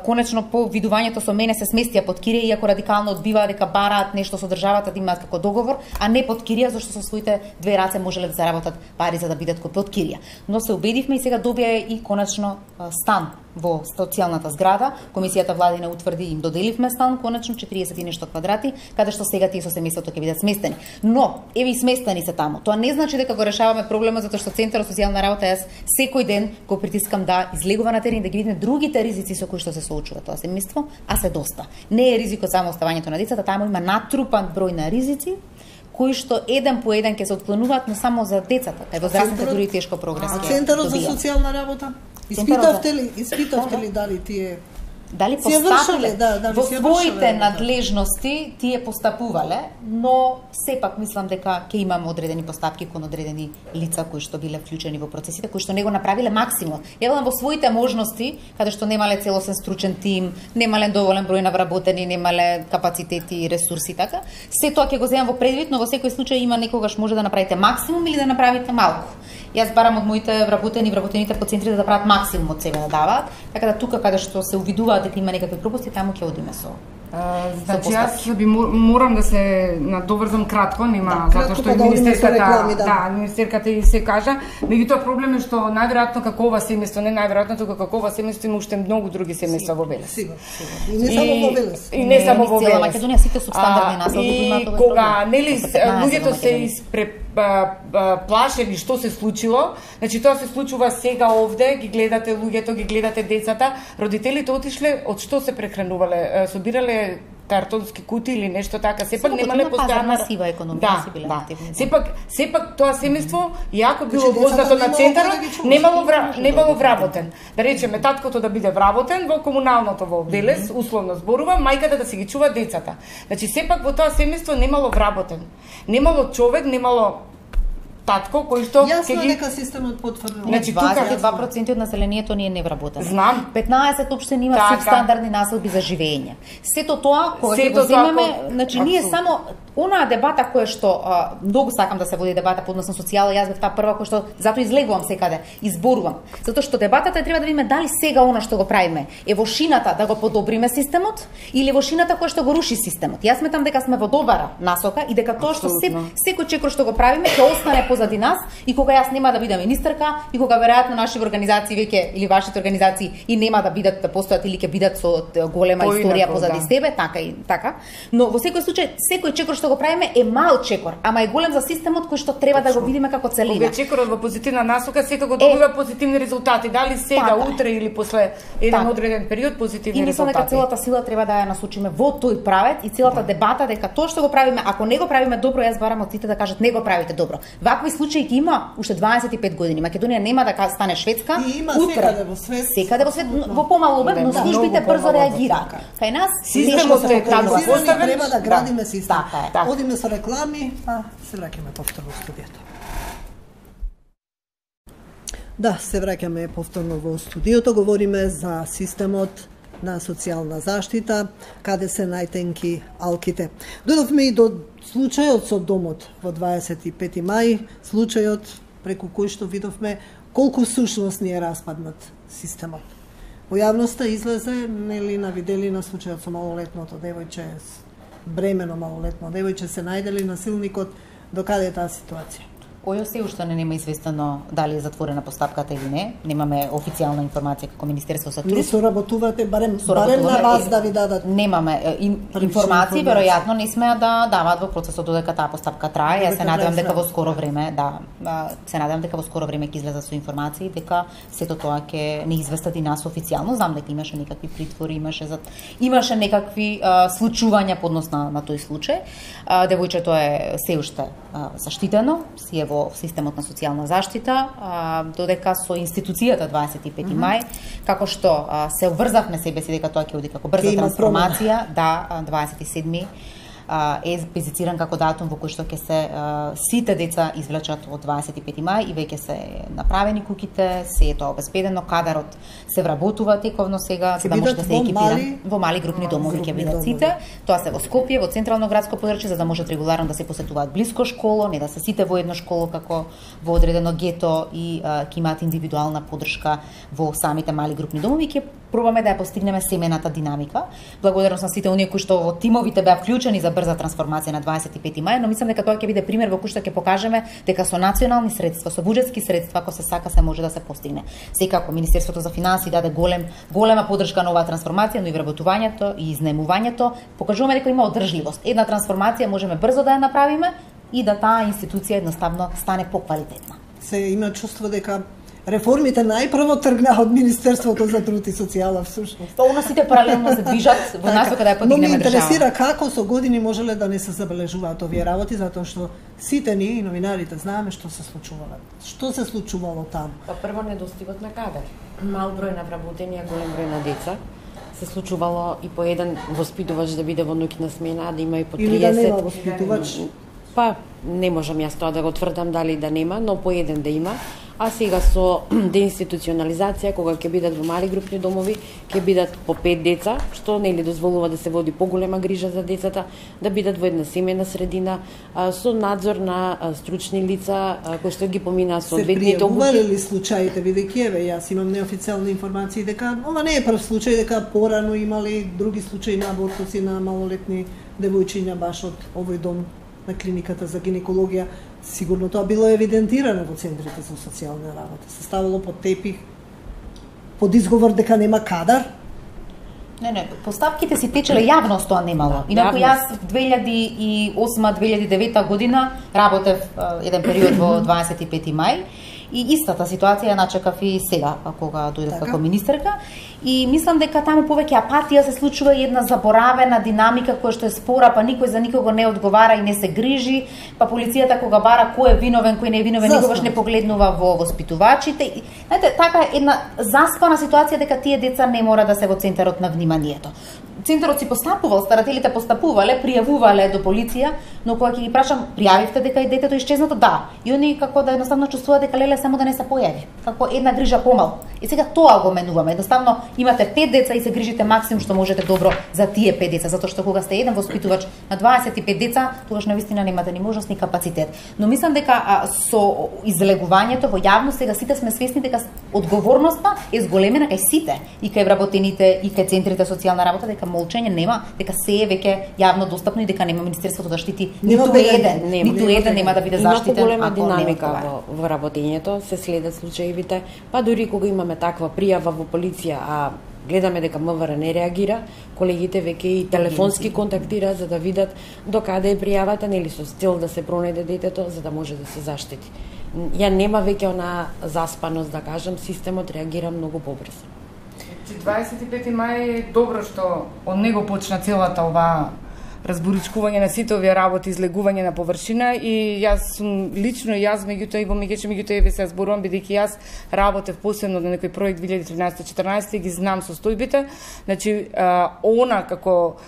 Speaker 2: конечно по видувањето со мене се сместија под кирија, иако радикално одбиваа дека бараат нешто со државата да имаат како договор, а не под кирија, зашто со своите 2 раце можеле да заработат пари за да бидат под кирија. Но се убедивме и сега добија и конечно стан во социјалната зграда. Комисијата владина утврди им доделивме стан конечно 40 и нешто квадрати, каде што сега тие со семејството ќе бидат сместени. Но еве и сместени се таму. Тоа не значи дека го решаваме проблемот затоа што Центарот за социјална работа јас секој ден го притискам да излегува на терен да ги видиме другите ризици со кои што се соочува тоа семејство, а се доста. Не е ризикот само оставањето на децата, таму има натрупан број на ризици кои што еден по еден ќе се отклонуваат, но само за децата. Кај возрастните дури тешко прогрес.
Speaker 1: А Центарот за социјална работа? Испитавте ли дали тие
Speaker 2: дали постапале во своите надлежности, тие постапувале, но сепак мислам дека ќе имаме одредени постапки кон одредени лица кои што биле вклучени во процесите, кои што не го направиле максимум. Јавно во своите можности, каде што немале целосен стручен тим, немале доволен број на вработени, немале капацитети и ресурси така. Се тоа ќе го земам во предвид, но во секој случај има некогаш може да направите максимум или да направите малку. Јас барам од моите вработените по центрите да прават максимум од себе да даваат, така да тука каде што се увидуваат дека има некакви пропусти, таму ќе одиме со.
Speaker 5: Значи јас би морам да се надоврзам кратко, нема затоа што министерката и се кажа, меѓутоа проблем е што најверојатно како ова семејство, не најверојатно тука како ова семејство има уште многу други семејства во Велес.
Speaker 1: И не само во Велес.
Speaker 5: И не само во Велес.
Speaker 2: Македонија сите субстандардни населби имаат овој проблем.
Speaker 5: Кога нели луѓето се плашени што се случило, значи тоа се случува сега овде, ги гледате луѓето, ги гледате децата, родителите отишле од што се прехранувале, собирале картонски кутии или нешто така, сепак немале постојана
Speaker 2: сива економија си биле.
Speaker 5: Сепак тоа семејство иако било вознато на центарот, немало вработен. Да речеме таткото да биде вработен во комуналното во Велес, условно зборува, мајката да си ги чува децата. Значи сепак во тоа семејство немало вработен. Немало човек, немало татко кој што
Speaker 1: ќе ги дека системот потврдува.
Speaker 2: Значи 22% од населението ни е невработено.
Speaker 5: Знам.
Speaker 2: 15 општини има субстандардни населби за живење. Сето тоа кога ќе го земеме, значи ние само Онаа дебата која што многу сакам да се води дебата по однос на социјала, јас бев таа прва која што затоа излегувам секаде, изборувам. Затоа што дебатата треба да видиме дали сега она што го правиме е во шината да го подобриме системот или во шината која што го руши системот. Јас сметам дека сме во добра насока и дека тоа што секој чекор што го правиме ќе остане позади нас и кога јас нема да бидам министерка и кога веројатно наши организации веќе или вашите организации и нема да бидат да постојат или ќе бидат со голема историја позади себе, така и така. Но во секој случај секој чекор што го правиме е мал чекор, ама е голем за системот кој што треба да го видиме како целина.
Speaker 5: Кога чекорот во позитивна насока секако добива позитивни резултати, дали сега, утре или после еден одреден период позитивни резултати. И мислам дека целата сила треба да ја насочиме во тој правец и целата дебата дека тоа што го правиме, ако не го правиме добро, јас барам од сите да кажат не го правите добро. Вакви случаи ќе има уште 25 години. Македонија нема да стане Шведска.
Speaker 1: И има секаде во свет.
Speaker 2: Секаде во свет во помал обем, но службите брзо реагираат. Кај нас
Speaker 5: системот е така поставен,
Speaker 1: треба да градиме систем. Одиме со реклами, а се враќаме повторно во студиото. Да, се враќаме повторно во студиото, говориме за системот на социјална заштита, каде се најтенки алките. Дојдовме и до случајот со домот во 25 мај, случајот преку кој што видовме колку сушност ни е распаднат системот. Во јавноста излезе нели на виделина случајот со малолетното девојче, бремено малолетно девојче, се најдели насилникот, до каде е таа ситуација?
Speaker 2: Ојо се уште не нема известено дали е затворена постапката или не. Немаме официјална информација како Министерство за труд.
Speaker 1: Не соработувате барем на вас да ви дадат.
Speaker 2: Немаме информации, веројатно не смеа да даваат во процесот додека таа постапка трае. Јас се надевам дека во скоро време, се надевам дека во скоро време ќе излезат со информации дека сето тоа ќе не известат и нас официјално. Знам дека имаше некакви притвори, имаше некакви случувања по однос на тој случај. Девојчето е се уште заштитено, си е во системот на социјална заштита, додека со институцијата 25 мај, како што се обврзавме себе си дека тоа ќе оди како брза трансформација, 27 е специфициран како датум во кој што ќе се сите деца извлечат од 25 мај и веќе се направени куќите, се е тоа обезбедено, кадарот се вработува тековно сега, за да може да се екипира во мали групни домови ќе бидат сите. Тоа се во Скопје, во централно градско подрачје, за да можат регуларно да се посетуваат блиско школо, не да се сите во едно школо како во одредено гето и ќе имаат индивидуална поддршка во самите мали групни домови. Ќе пробаме да ја постигнеме семената динамика. Благодарност на сите оние кои што во тимовите беа вклучени за брза трансформација на 25 мај, но мислам дека тоа ќе биде пример во кој што ќе покажеме дека со национални средства, со буџетски средства, ако се сака, се може да се постигне. Секако Министерството за финансии даде голема поддршка на оваа трансформација, но и вработувањето и изнемувањето покажуваме дека има одржливост. Една трансформација можеме брзо да ја направиме и да таа институција едноставно стане поквалитетна.
Speaker 1: Се има чувство дека реформите најпрво тргнаа од Министерството за труд и социјала всушност.
Speaker 2: Тоа она сите паралелно се движат во насока да ја подигнеме држава.
Speaker 1: Но ме интересира како со години можеле да не се забележуваат овие работи, затоа што сите ние и новинарите знаеме што се случувало. Што се случувало таму?
Speaker 3: Па прво недостигот на кадар. Мал број на вработени, голем број на деца. Се случувало и по еден воспитувач да биде во ноќна смена, да има и по 30.
Speaker 1: Или да нема воспитувач?
Speaker 3: Па не можам јас тоа да го тврдам дали да нема, но по еден да има. А сега со деинституционализација, кога ќе бидат во мали групни домови, ќе бидат по 5 деца, што нели дозволува да се води поголема грижа за децата, да бидат во една семејна средина, со надзор на стручни лица, кои што ги поминаа соодветните обуки.
Speaker 1: Се пријавувале ли случаите, бидејќи еве, јас имам неофицијални информации дека ова не е прв случај, дека порано имали други случаи на абортуси на малолетни девојчиња баш од овој дом на клиниката за гинекологија. Сигурно тоа било евидентирано во центрите за социјална работа. Се ставало под тепих, под изговор дека нема кадар.
Speaker 2: Не, постапките си течеле јавност, тоа немало. Инаку јас 2008-2009 година работев еден период во 25 мај и истата ситуација ја начекав и сега, кога дојдов како министерка. И мислам дека таму повеќе апатија се случува и една заборавена динамика која што е спора, па никој за никого не одговара и не се грижи, па полицијата кога бара кој е виновен, кој не е виновен, никогаш не погледнува во воспитувачите. И, знаете, така е една заспана ситуација дека тие деца не мора да се во центарот на вниманието. центарот си постапувал, старателите постапувале, пријавувале до полиција, но кога ќе ги прашам, пријавивте дека и детето исчезнато? Да. И они како да едноставно чувствуваат дека леле само да не се појави. Како една грижа помал. И сега тоа го менуваме. Едноставно имате 5 деца и се грижите максимум што можете добро за тие 5 деца, затоа што кога сте еден воспитувач на 25 деца, тогаш навистина немате ни можност ни капацитет. Но мислам дека со излегувањето во јавност сега сите сме свесни дека одговорноста е зголемена кај сите, и кај вработените, и кај центрите социјална работа, дека молчење нема, дека се е веќе јавно достапно и дека нема Министерството да штити ниту еден нема да биде заштитен.
Speaker 3: Има поголема динамика во работењето, се следат случаевите, па дури кога имаме таква пријава во полиција, а гледаме дека МВР не реагира, колегите веќе и телефонски контактираат за да видат докаде е пријавата, нели со цел да се пронајде детето за да може да се заштити. Ја нема веќе она заспаност, да кажам, системот реагира многу побрзо.
Speaker 5: 25 мај е добро што од него почна целата оваа разборичкување на сите овие работи, излегување на површина, и јас сум лично јас меѓутоа и во меѓутоа еве се зборувам бидејќи јас работев посебно на некој проект 2013-14 и ги знам состојбите. Значи она како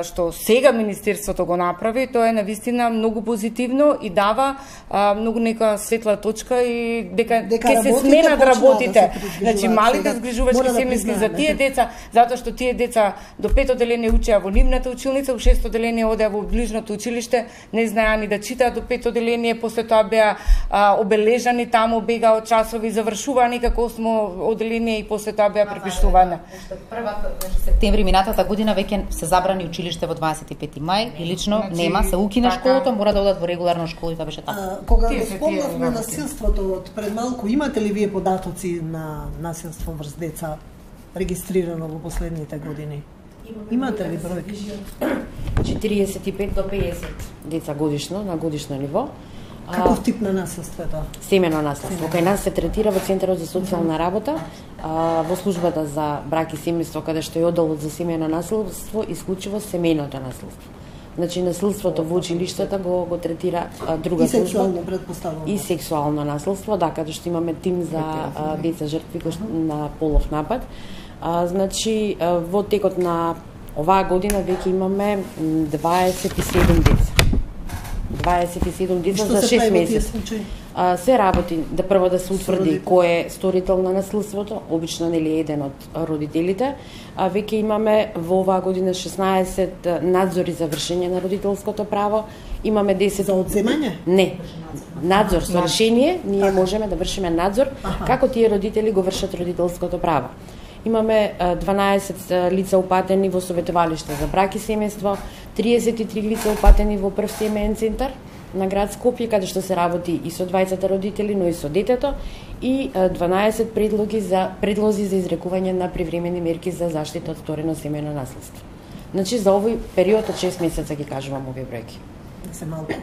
Speaker 5: што сега Министерството го направи, тоа е навистина многу позитивно и дава многу нека светла точка и дека ќе се сменат работите. Значи малите згрижувачки семејски за тие деца, затоа што тие деца до 5 одделение учеа во нивната училница, во 6 одделение одеа во ближното училиште, не знаеа ни да читаат до 5 одделение, после тоа беа обележани таму, бега од часови, завршуваа некако 8 одделение и после тоа беа препиштувани.
Speaker 2: Првата септември минатата година веќе се забрани училиште во 25 мај и лично нема, се укина школото, мора да одат во регуларна школа и тоа беше така.
Speaker 1: Кога го спомнавме насилството од пред малку, имате ли вие податоци на насилство врз деца регистрирано во последните години? Имате ли бројки?
Speaker 3: 45 до 50 деца годишно, на годишно ниво.
Speaker 1: Каков тип на насилство е тоа?
Speaker 3: Семено насилство. Кај нас се третира во Центарот за социјална работа, во службата за брак и семејство, каде што е одделот за семено насилство, исклучиво семејното насилство. Значи насилството во училиштата го третира друга служба.
Speaker 1: И сексуално предпоставено.
Speaker 3: И сексуално насилство, да, каде што имаме тим за деца жртви на полов напад. Значи во текот на оваа година веќе имаме 27 деца. 27 деца за 6 месеци. Се работи да прво да се утврди кој е сторител на насилството, обично нели еден од родителите. Веќе имаме во оваа година 16 надзори за вршење на родителското право. Имаме 10
Speaker 1: за одземање?
Speaker 3: Не. Надзор со решение, ние можеме да вршиме надзор како тие родители го вршат родителското право. Имаме 12 лица упатени во советувалиште за брак и семејство, 33 лица упатени во прв семеен центар на град Скопје, каде што се работи и со двајцата родители, но и со детето, и 12 предлози за изрекување на привремени мерки за заштита од сторено семејно насилство. Значи за овој период од 6 месеца ги кажувам овие бројки.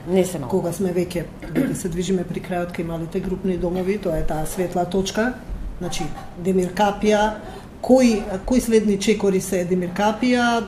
Speaker 3: Не се малку.
Speaker 1: Кога сме веќе се движиме при крајот кај малите групни домови, тоа е таа светла точка, значи Демиркапија, кои следни чекори се Демиркапија,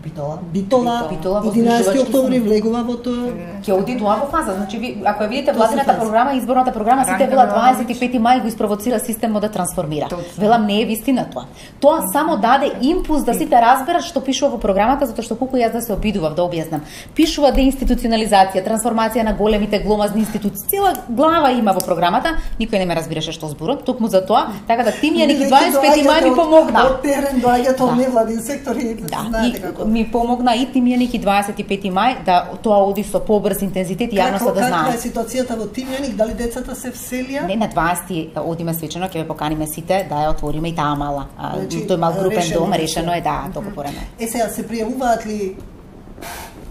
Speaker 1: Битола, 11 октомври влегува во тоа.
Speaker 2: Ќе оди тоа во фаза. Значи, ако ја видите владината програма, изборната програма, сите вела 25 мај го испровоцира системот да трансформира. Велам, не е вистина тоа. Тоа само даде импулс да сите разберат што пишува во програмата, затоа што колку јас да се обидував да објаснам. Пишува деинституционализација, трансформација на големите гломазни институции. Цела глава има во програмата, никој не ме разбираше што зборам, токму за тоа, така да тимјаник 25 мај ми помогна.
Speaker 1: Од терен доаѓаат од невладин сектор и знаете како.
Speaker 2: Ми помогна и Тимјаник и 25 мај да тоа оди со побрз интензитет и јавноста да знае.
Speaker 1: Каква е ситуацијата во Тимјаник? Дали децата се вселија?
Speaker 2: Не, на 20 одиме свечено, ќе ве поканиме сите да ја отвориме и таа мала. Тој мал групен дом, решено е да договорено.
Speaker 1: Сега се пријавуваат ли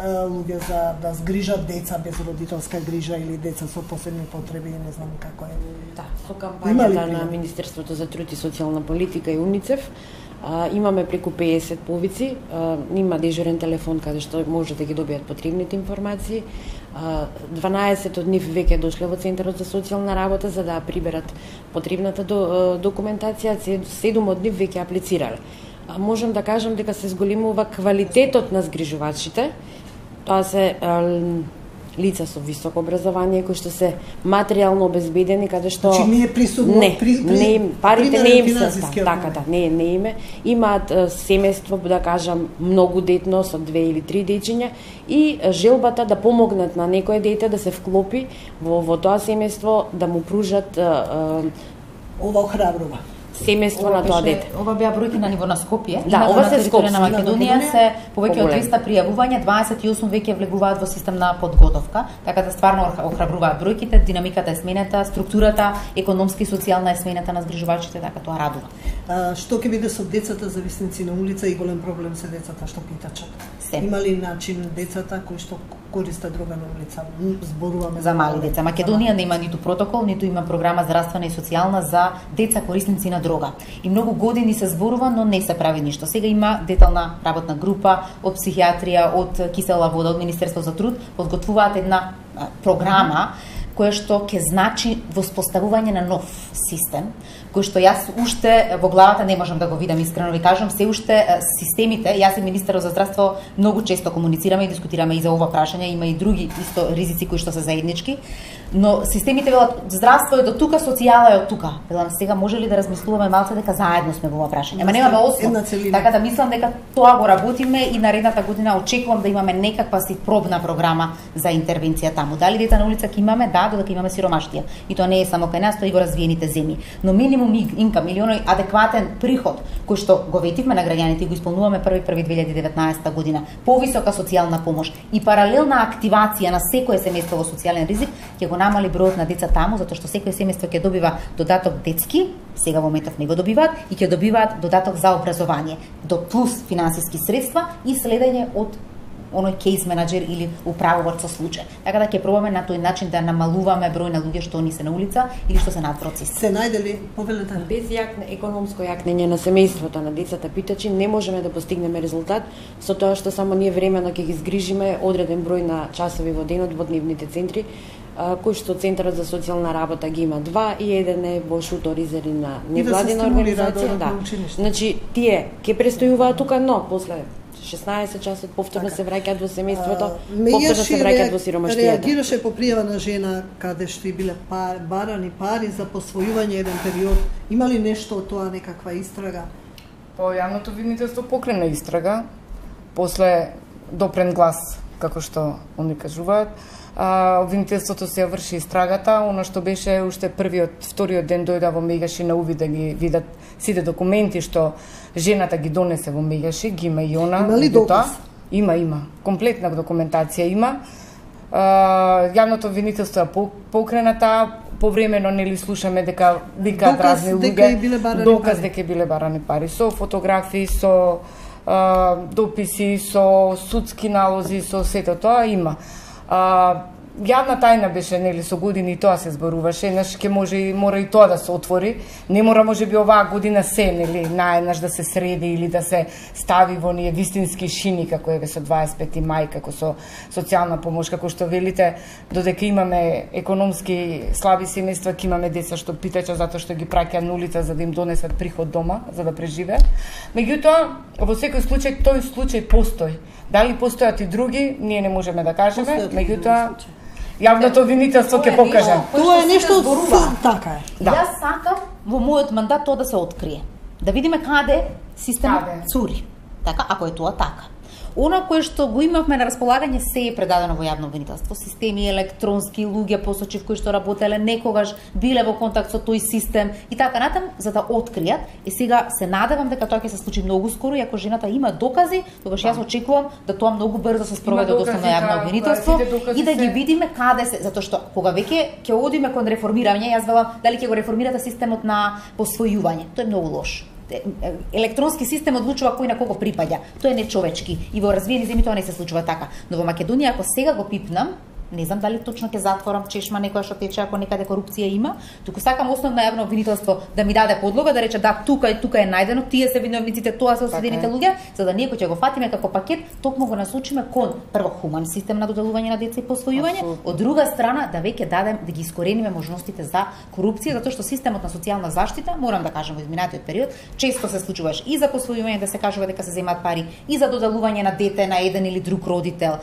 Speaker 1: луѓе за да згрижат деца без родителска грижа или деца со посебни потреби, не знам како е.
Speaker 3: Да, со кампањата на Министерството за труд и социјална политика и УНИЦЕФ имаме преку 50 повици, има дежурен телефон каде што може да ги добијат потребните информации. 12 од нив веќе дошле во Центарот за социјална работа за да приберат потребната документација, 7 од нив веќе аплицирале. Можам да кажам дека се зголемува квалитетот на згрижувачите. Тоа се лица со високо образование кои што се материјално обезбедени, каде што
Speaker 1: Значи не е присугно,
Speaker 3: парите не им се така не име, имаат семејство, да кажам, многу детно со 2 или 3 дечиња и желбата да помогнат на некое дете да се вклопи во тоа семејство, да му пружат
Speaker 1: ова охрабрува.
Speaker 3: Семејство на тоа дете.
Speaker 2: Ова беа бројки на ниво на Скопје.
Speaker 3: Да, ова се Скопје
Speaker 2: на Македонија се повеќе од 200 пријавувања, 28 веќе влегуваат во систем на подготовка, така да стварно охрабруваат бројките, динамиката е сменета, структурата економски и социјална е сменета на згрижувачите, така тоа радува.
Speaker 1: Што ќе биде со децата зависници на улица и голем проблем се децата што питачат? Има ли начин децата кои што користат дрога на улица? Зборуваме
Speaker 2: за мали деца. Македонија нема ниту протокол, ниту има програма здравствена и социјална за деца корисници на дрога. И многу години се зборува, но не се прави ништо. Сега има детална работна група од психијатрија, од Кисела вода, од Министерство за труд, подготвуваат една програма која што ќе значи воспоставување на нов систем, кој што јас уште во главата не можам да го видам, искрено ви кажам, се уште системите, јас и министерот за здравство многу често комуницираме и дискутираме и за ова прашање, има и други исто ризици кои што се заеднички, но системите велат здравство е до тука, социјала е од тука. Велам сега може ли да размислуваме малце дека заедно сме во ова прашање? Ама немаме основа. Така да мислам дека тоа го работиме и наредната година очекувам да имаме некаква си пробна програма за интервенција таму. Дали дета на улица ќе имаме? Да, додека имаме сиромаштија. И тоа не е само кај нас, тоа и во развиените земји. Но минимум инкам или оној адекватен приход кој што го ветивме на граѓаните и го исполнуваме 1.1.2019 година, повисока социјална помош и паралелна активација на секое семејство во социјален ризик ќе го намали бројот на деца таму, затоа што секое семејство ќе добива додаток детски, сега во моментов не го добиваат, и ќе добиваат додаток за образование, до плюс финансиски средства и следење од оној кейс менаџер или управувач со случај. Така да ќе пробаме на тој начин да намалуваме број на луѓе што ни се на улица или што се на процес.
Speaker 1: Се најдели повелете
Speaker 3: без економско јакнење на семејството на децата питачи не можеме да постигнеме резултат со тоа што само ние времено ќе ги згрижиме одреден број на часови во денот во дневните центри, кој што Центарот за социјална работа ги има 2 и еден е во Шуторизери на невладина организација. Да. Значи тие ќе престојуваат тука, но после 16 часот повторно се враќаат во семејството, повторно се враќаат во сиромаштијата.
Speaker 1: Реагираше по пријава на жена каде што и биле барани пари за посвојување еден период. Има ли нешто од тоа, некаква истрага?
Speaker 5: По јавното обвинителство покрена истрага, после допрен глас, како што они кажуваат. Обвинителството се врши истрагата, она што беше уште вториот ден дојда во Мегаши на увид да ги видат сите документи што жената ги донесе во Мегаши, ги има и она.
Speaker 1: Има ли доказ?
Speaker 5: Има. Комплетна документација има. Јавното обвинителство е покрената, повремено нели слушаме дека викаат разни луѓе, доказ дека биле барани пари, со фотографии, со дописи, со судски налози, со сето тоа има. Јавна тајна беше нели со години и тоа се зборуваше, еднаш ќе мора и тоа да се отвори. Не мора можеби оваа година се нели наеднаш да се среди или да се стави во ние вистински шини како еве со 25 мај, како со социјална помош, како што велите, додека имаме економски слаби семејства, ќе имаме деца што питача затоа што ги праќаат на улица за да им донесат приход дома, за да преживеат. Меѓутоа, во секој случај тој случај постои. Дали постојат и други, ние не можеме да кажеме, меѓутоа јавното обвинителство ќе покаже.
Speaker 1: Тоа е нешто така е.
Speaker 2: Да. Јас сакам во мојот мандат тоа да се открие. Да видиме каде системот цури. Така, ако е тоа така. Она кое што го имавме на располагање се е предадено во јавно обвинителство. Системи електронски, луѓе посочив кои што работеле некогаш, биле во контакт со тој систем и така натаму за да откријат. И сега се надевам дека тоа ќе се случи многу скоро и ако жената има докази, тогаш јас очекувам да тоа многу брзо се спроведе од основно јавно обвинителство и да ги видиме каде се, затоа што кога веќе ќе одиме кон реформирање, јас велам дали ќе го реформирате системот на посвојување. Тоа е многу лошо. Електронски систем одлучува кој на кого припаѓа. Тоа е нечовечки и во развиени земји тоа не се случува така. Но во Македонија ако сега го пипнам, не знам дали точно ќе затворам чешма некоја што тече ако некаде корупција има, туку сакам основно јавно обвинителство да ми даде подлога да рече да тука и тука е најдено, тие се виновниците, тоа се осудените луѓе, за да ние кој ќе го фатиме како пакет, токму го насочиме кон прво хуман систем на доделување на деца и посвојување, од друга страна да веќе дадем да ги искорениме можностите за корупција, затоа што системот на социјална заштита, морам да кажам во изминатиот период, често се случуваше и за посвојување да се кажува дека се земаат пари, и за доделување на дете на еден или друг родител.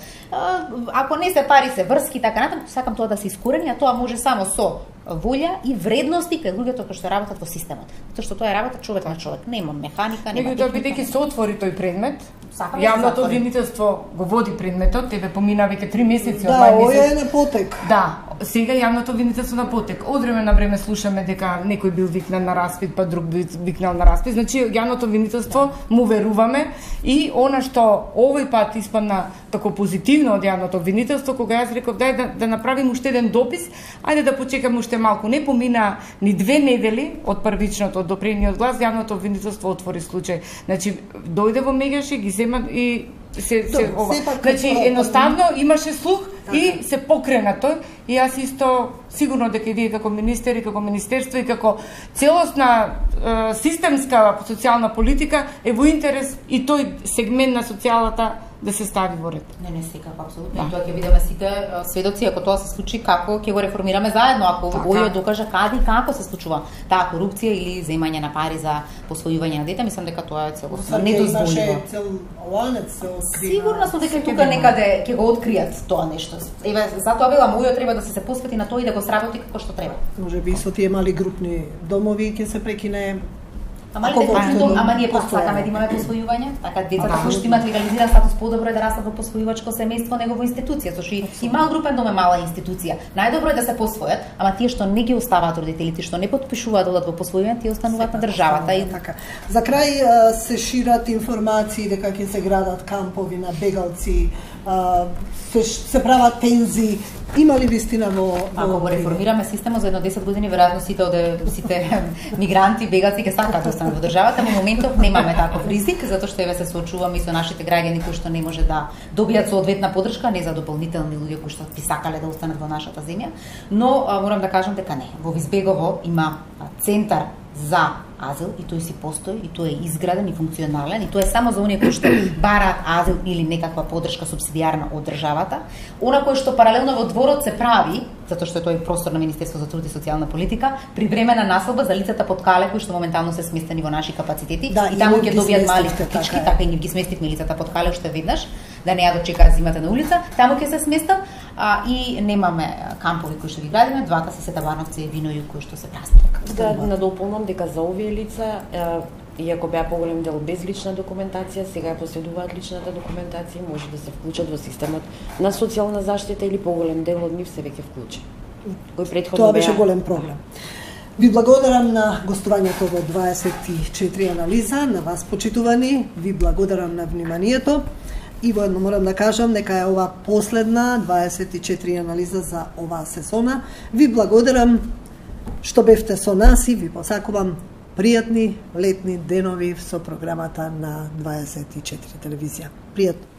Speaker 2: Ако не се пари се врски така натаму, сакам тоа да се искорени, а тоа може само со волја и вредности кај луѓето кои што работат во системот. Затоа што тоа е работа човек на човек, нема механика, нема
Speaker 5: техника. Бидејќи се отвори тој предмет,
Speaker 2: Сакам
Speaker 5: јавното обвинителство го води предметот, тебе помина веќе 3 месеци од
Speaker 1: мај
Speaker 5: мај месец.
Speaker 1: Да, е на потек.
Speaker 5: Да, сега јавното обвинителство на потек. Од време на време слушаме дека некој бил викнан на распит, па друг бил викнал на распит. Значи јавното обвинителство му веруваме и она што овој пат испадна тако позитивно од јавното обвинителство, кога јас реков дај да направим уште еден допис, ајде да почекаме уште малку. Не помина ни 2 недели од првичното до прениот глас, јавното обвинителство отвори случај. Значи дојде во Мегаш и ги зема и се ова. Значи едноставно имаше слух и се покрена тој и јас исто сигурно дека и вие како министер и како министерство и како целосна системска социјална политика е во интерес и тој сегмент на социјалата да се стави во ред.
Speaker 2: Не секако, апсолутно. Да. И тоа ќе видиме сите сведоци, ако тоа се случи, како ќе го реформираме заедно, ако Војо докаже каде и како се случува таа корупција или земање на пари за посвојување на дете, мислам дека тоа е целосно недозволиво. Сигурно сум дека тука некаде ќе го откријат тоа нешто. Еве, затоа велам, Војо треба да се посвети на тоа и да го сработи како што треба.
Speaker 1: Можеби со тие мали групни домови ќе се прекине.
Speaker 2: Ама ние пак сакаме да имаме посвојување, така децата кои што имаат легализиран статус подобро е да растат во посвојувачко семејство него во институција, зашто и мал групен дом е мала институција. Најдобро е да се посвојат, ама тие што не ги оставаат родителите, што не потпишуваат да одат во посвојување, тие остануваат на државата и
Speaker 1: така. За крај се шират информации дека ќе се градат кампови на бегалци, се прават пензии. Има ли вистина во
Speaker 2: ако го реформираме системот за едно 10 години, веројатно сите мигранти, бегалци ќе сакаат да останат во државата, но моментов немаме таков ризик, затоа што еве се соочуваме и со нашите граѓани кои што не може да добијат соодветна поддршка, не за дополнителни луѓе кои што би сакале да останат во нашата земја, но морам да кажам дека не. Во Визбегово има центар за азил и тој си постои и тој е изграден и функционален и тоа е само за оние кои што бараат азил или некаква поддршка субсидијарна од државата. Она кој што паралелно во дворот се прави, затоа што е тој простор на Министерство за труд и социјална политика, привремена населба за лицата под кале кои што моментално се сместени во наши капацитети и таму ќе добијат мали стотички, така и ние ги сместивме лицата под кале уште веднаш, да не ја дочекаат зимата на улица, таму ќе се сместат и немаме кампови кои што ги градиме, двата се Сетабановци и Виноју кои што се празни.
Speaker 3: Да надополнам дека за овие лица, иако беа поголем дел без лична документација, сега ја последуваат личната документација и може да се вклучат во системот на социјална заштита или поголем дел од нив се веќе вклучи. Кој претходно
Speaker 1: тоа беше голем проблем. Ви благодарам на гостувањето во 24 анализа, на вас почитувани, ви благодарам на вниманието. И воедно морам да кажам дека е ова последна 24 анализа за оваа сезона. Ви благодарам што бевте со нас и ви посакувам пријатни летни денови со програмата на 24 телевизија. Пријатно.